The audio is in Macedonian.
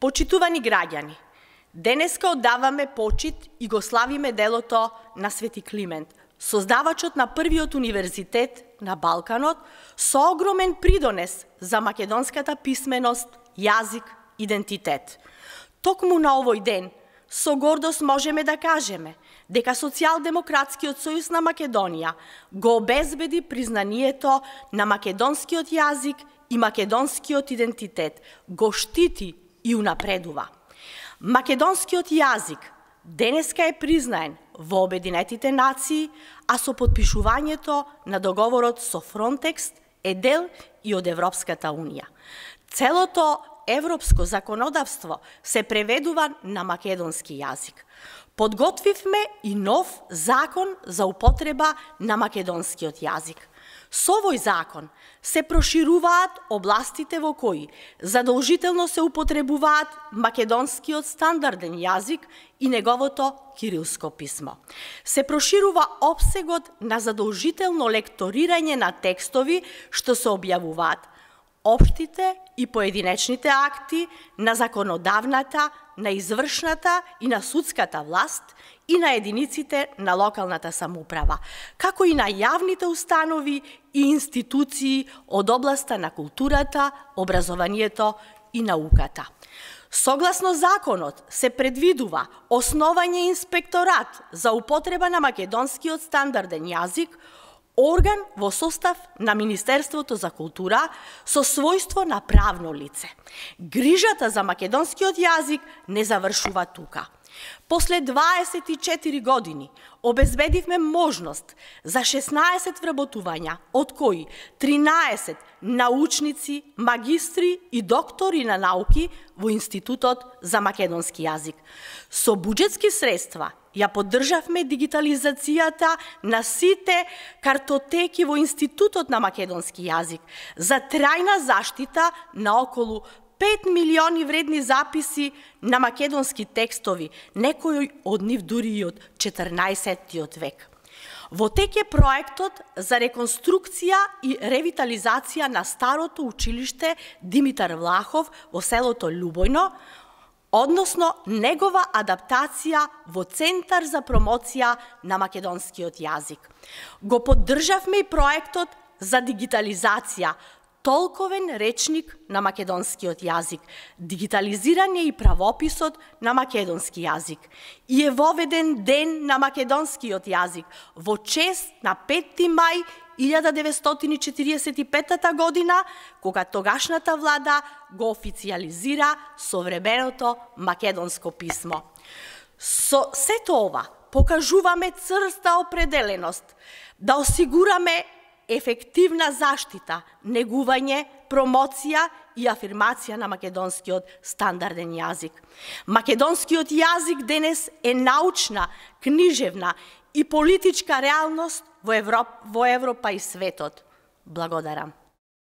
Почитувани граѓани, денеска оддаваме почит и го славиме делото на Свети Климент, создавачот на првиот универзитет на Балканот, со огромен придонес за македонската писменост, јазик, идентитет. Токму на овој ден, со гордост можеме да кажеме дека Социјалдемократскиот сојуз на Македонија го обезбеди признанието на македонскиот јазик и македонскиот идентитет, го штити и унапредува. Македонскиот јазик денеска е признаен во Обединетите нации, а со потпишувањето на договорот со Фронтекс е дел и од Европската Унија. Целото европско законодавство се преведува на македонски јазик. Подготвивме и нов закон за употреба на македонскиот јазик. Со овој закон се прошируваат областите во кои задолжително се употребуваат македонскиот стандарден јазик и неговото кирилско писмо. Се проширува опсегот на задолжително лекторирање на текстови што се објавуваат општите и поединечните акти на законодавната, на извршната и на судската власт и на единиците на локалната самоуправа, како и на јавните установи и институции од областа на културата, образованието и науката. Согласно законот се предвидува основање инспекторат за употреба на македонскиот стандарден јазик, орган во состав на Министерството за култура со својство на правно лице. Грижата за македонскиот јазик не завршува тука. После 24 години обезбедивме можност за 16 вработувања, од кои 13 научници, магистри и доктори на науки во Институтот за македонски јазик. Со буџетски средства ја поддржавме дигитализацијата на сите картотеки во Институтот на македонски јазик за трајна заштита на околу 5 милиони вредни записи на македонски текстови, некои од нив дури и од 14 век. Во тек е проектот за реконструкција и ревитализација на старото училиште Димитар Влахов во селото Љубојно, односно негова адаптација во Центар за промоција на македонскиот јазик. Го поддржавме и проектот за дигитализација толковен речник на македонскиот јазик, дигитализиран е и правописот на македонски јазик и е воведен ден на македонскиот јазик во чест на 5. мај 1945 година, кога тогашната влада го официјализира современото македонско писмо. Со сето ова покажуваме црста определеност да осигураме ефективна заштита, негување, промоција и афирмација на македонскиот стандарден јазик. Македонскиот јазик денес е научна, книжевна и политичка реалност во Европа и светот. Благодарам.